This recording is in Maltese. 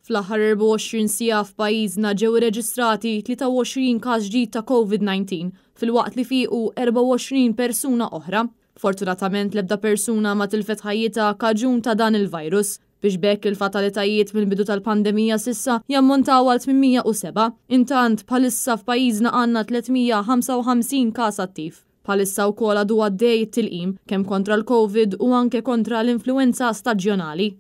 Fl-aħħar 24 siegħa f'pajjiżna ġew irreġistrati 23 każ ġdid ta' Covid-19 filwaqt li fiequ 24 persuna oħra. Fortunatament l-ebda persuna ma tilfet ħajjitha kaġun ta' dan il-virus, biex b'hekk il-fatalitajiet mill-bidu tal-pandemija s'issa jammontaw għal 807. Intant, bħalissa f'pajjiżna għandna 355 każ attiv. Bħalissa wkoll għadu għaddej it-tilqim kemm kontra l-Covid u anke kontra l-influwenza staġjonali.